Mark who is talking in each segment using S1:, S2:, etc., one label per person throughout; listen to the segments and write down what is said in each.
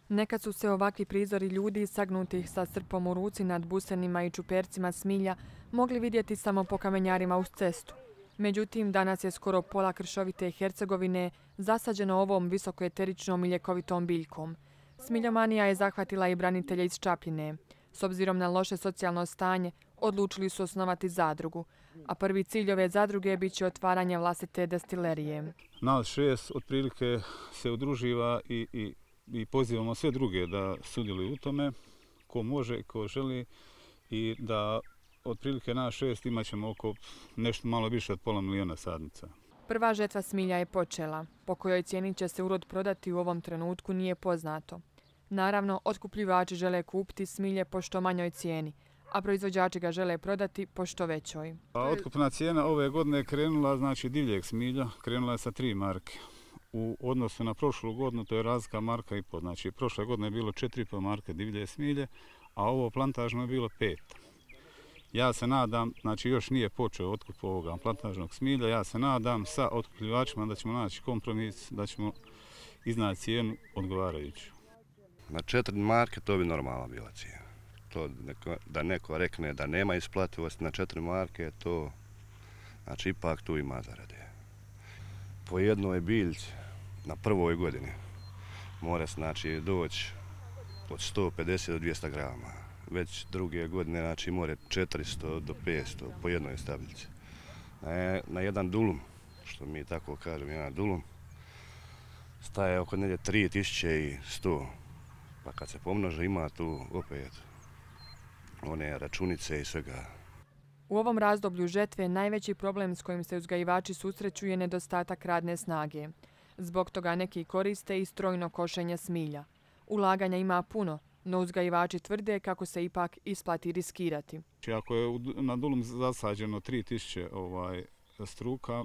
S1: Nekad su se ovakvi prizori ljudi sagnutih sa srpom u ruci nad busenima i čupercima smilja mogli vidjeti samo po kamenjarima uz cestu. Međutim, danas je skoro pola kršovite Hercegovine zasađeno ovom visokoeteričnom i ljekovitom biljkom. Smiljomanija je zahvatila i branitelje iz Čapljine. S obzirom na loše socijalno stanje, odlučili su osnovati zadrugu, a prvi cilj ove zadruge bit će otvaranje vlastite destilerije.
S2: Nas 6 otprilike se udruživa i pozivamo sve druge da sudjeluju u tome, ko može, ko želi, i da otprilike nas 6 imat ćemo oko nešto malo više od pola miliona sadnica.
S1: Prva žetva smilja je počela. Po kojoj cijeni će se urod prodati u ovom trenutku nije poznato. Naravno, otkupljivači žele kupiti smilje po što manjoj cijeni, a proizvođači ga žele prodati po što većoj.
S2: Otkupna cijena ove godine je krenula, znači divljeg smilja, krenula je sa 3 marke. U odnosu na prošlu godinu to je razlika marka i pol. Znači, prošle godine je bilo 4,5 marke divlje smilje, a ovo plantažno je bilo 5. Ja se nadam, znači još nije počeo otkup ovoga plantažnog smilja, ja se nadam sa otkupljivačima da ćemo naći kompromis, da ćemo iznaći cijenu odgovarajuću.
S3: Na 4 marke to bi normalno bila cijena. To da neko rekne da nema isplativosti na 4 marke, to znači ipak tu ima zarade. Po jednoj biljci na prvoj godini mora znači doći od 150 do 200 grama. Već druge godine znači more 400 do 500 po jednoj stabljici. Na jedan dulum, što mi tako kažemo, jedan dulum, staje oko negdje 3100. Pa kad se pomnože ima tu opet one računice i svega.
S1: U ovom razdoblju žetve najveći problem s kojim se uzgajivači susreću je nedostatak radne snage. Zbog toga neki koriste i strojno košenje smilja. Ulaganja ima puno, no uzgajivači tvrde kako se ipak isplati riskirati.
S2: Ako je na dulum zasađeno 3000 struka,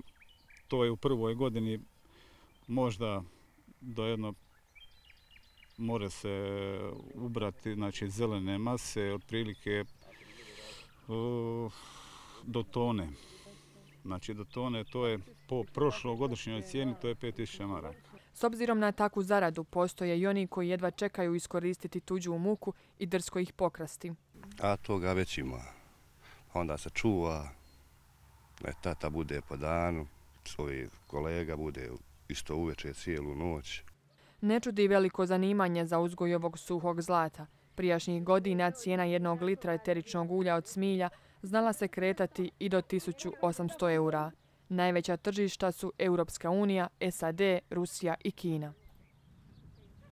S2: to je u prvoj godini možda do jedno more se ubrati, znači zelene mase, otprilike do tone. Znači do tone, to je po prošlogodišnjoj cijeni, to je 5000 maraka.
S1: S obzirom na takvu zaradu, postoje i oni koji jedva čekaju iskoristiti tuđu muku i drsko ih pokrasti.
S3: A toga već ima. Onda se čuva, tata bude po danu, svoj kolega bude isto uveče cijelu noć.
S1: Ne čudi veliko zanimanje za uzgoj ovog suhog zlata. Prijašnjih godina cijena 1 litra eteričnog ulja od smilja znala se kretati i do 1800 eura. Najveća tržišta su Europska unija, SAD, Rusija i Kina.